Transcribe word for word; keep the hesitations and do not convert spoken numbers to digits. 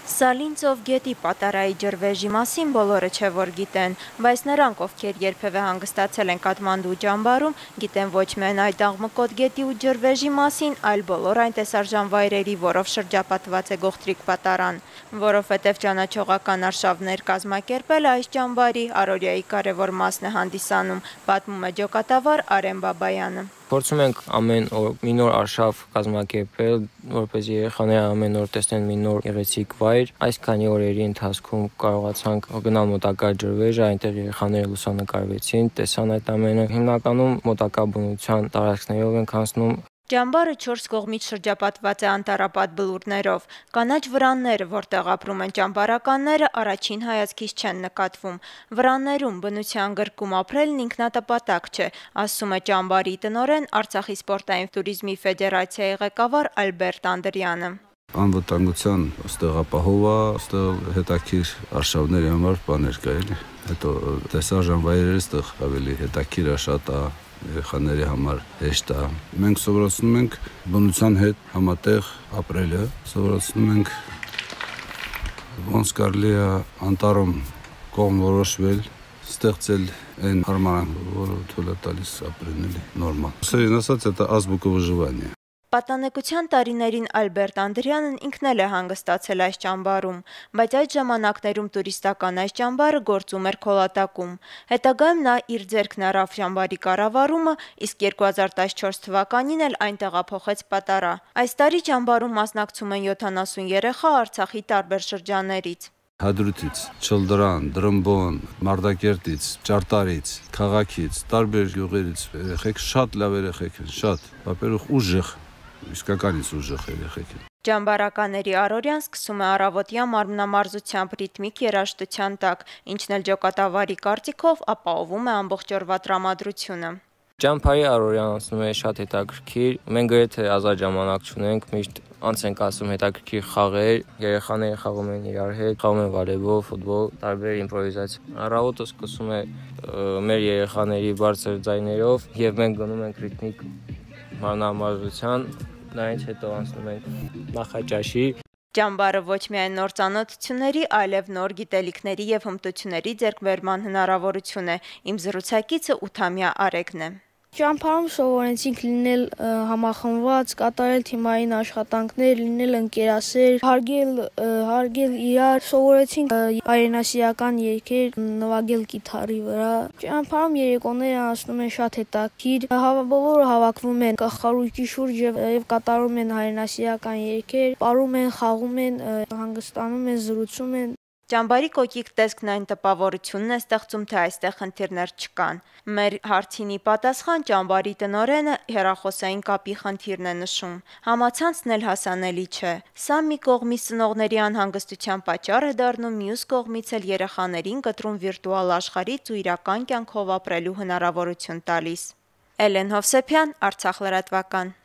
Սալինցով գետի պատարայի ջրվեժի մասին բոլորը չէ որ գիտեն, բայց նրանք, ովքեր երբևէ հանգստացել են Կաթմանդու ճամբարում, գիտեն ոչ միայն այդ աղմկոտ գետի ու ջրվեժի մասին, այլ բոլոր այն տեսարժան վայրերի, որով շրջապատված է գողտրիկ պատարան, որովհետև ճանաչողական արշավներ կազմակերպելը այս ճամբարի առօրյայի կարևոր մասն է հանդիսանում, պատմում է ջոկատավար Արեն Բաբայանը։ Փորձում ենք ամեն օր մի նոր արշավ կազմակերպել, որպեսզի երեխաները ամեն օր տեսնեն մի նոր գեղեցիկ վայր։ Այս քանի օրերի ընթացքում կարողացանք գնալ մոտակա ջրվեժը, այնտեղ երեխաները լուսանկարվեցին, տեսան այդ ամենը։ Հիմնականում մոտակա բնության տարածքներով ենք անցնում։ Ճամբարը չորս կողմից շրջապատված է անտառապատ բլուրներով, կանաչ վրանները, որտեղ ապրում են ճամբարականները, առաջին հայացքից չեն նկատվում։ Վրաններում բնության գրկում ապրելն ինքնատպատակ չէ, ասում է ճամբարի տնօրեն Արցախի սպորտային туриզմի ֆեդերացիայի ղեկավար Ալբերտ Անդրյանը։ Անվտանգության ստեղ ապահով է, ստեղ հետաքրքիր արշավների համար բաներ կա էլի։ Հետո տեսարժան վայրերը ստեղ ավելի հետաքրքիր է, շատ է, երեխաների համար հեշտ է։ Մենք սովորացնում ենք բնության հետ համատեղ ապրելը, սովորացնում ենք ոնց կարելի է անտառում կողմ որոշվել, ստեղծել այն հարմարանքը, որը թույլ է տալիս ապրեն էլի նորմալ։ Սերին ասած, это азбука выживания։ Պատանեկության տարիներին Ալբերտ Անդրյանն ինքն էլ է հանգստացել այս ճամբարում, բայց այդ ժամանակներում տուրիստական այս ճամբարը գործում էր Քոլատակում։ Հետագայում նա իր ձեռքն առավ ճամբարի կառավարումը, իսկ երկու հազար տասնչորս թվականին էլ այն տեղափոխեց պատարա։ Այս տարի ճամբարում մասնակցում են յոթանասուն երեխա Արցախի տարբեր շրջաններից։ Հադրութից, Չլդրան, Դրմբոն, Մարտակերտից, Ճարտարից, քաղաքից, տարբեր գյուղերից երեխեք շատ լավ երեխեք են, շատ, ապերուխ ուժեղ, իսկականից ուժեղ երեխեք են։ Ճամբարականների առօրյան սկսում է առավոտյա մարմնամարզությամբ ռիթմիկ երաժշտության տակ, ինչն էլ ջոկատավարի կարծիքով ապահովում է ամբողջ օրվա տրամադրությունը։ Ճամբարի առօրյան անցնում է շատ հետաքրքիր, մենք գրեթե ազատ ժամանակ չունենք, միշտ անց ենք ասում հետաքրքիր խաղեր, երեխաները խաղում են իրար հետ, խաղում են վոլեյբոլ, ֆուտբոլ, տարբեր իմպրովիզացիա։ Առավոտը սկսում է մեր երեխաների բարձր ձայներով եւ մենք գնում ենք ռիթմիկ մարմնամարզության, դրանից հետո անցնում ենք նախաճաշի։ Ճամբարը ոչ միայն նոր ծանոթությունների, այլև նոր գիտելիքների եւ հմտությունների ձեռքբերման հնարավորություն է։ Իմ զրուցակիցը ութամյա Արեգն է։ Ճամբարում սովորեցինք լինել համախմբված, կատարել թիմային աշխատանքներ, լինել ընկերասեր, հարգել, հարգել իրար, սովորեցինք հայրենասիրական երգեր, նվագել կիթառի վրա։ Ճամբարում երեկոները անցնում են շատ հետաքրքիր, բոլորը հավաքվում են կախարույկի շուրջ եւ կատարում են հայրենասիրական երգեր, պարում են, խաղում են, հանգստանում են, զրուցում են։ Ճամբարի կոկիկ տեսքն այն տպավորությունն է ստեղծում, թե այստեղ խնդիրներ չկան։ Մեր հարցինի պատասխան ճամբարի տնօրենը հեռախոսային կապի խնդիրն է նշում։ Համացանցն էլ հասանելի չէ։ Սա մի կողմից ծնողների անհանգստության պատճառ է դառնում, մյուս կողմից էլ երեխաներին կտրում վիրտուալ աշխարհից ու իրական կյանքով ապրելու հնարավորություն տալիս։ Էլեն Հովսեփյան, Արցախ լրատվական։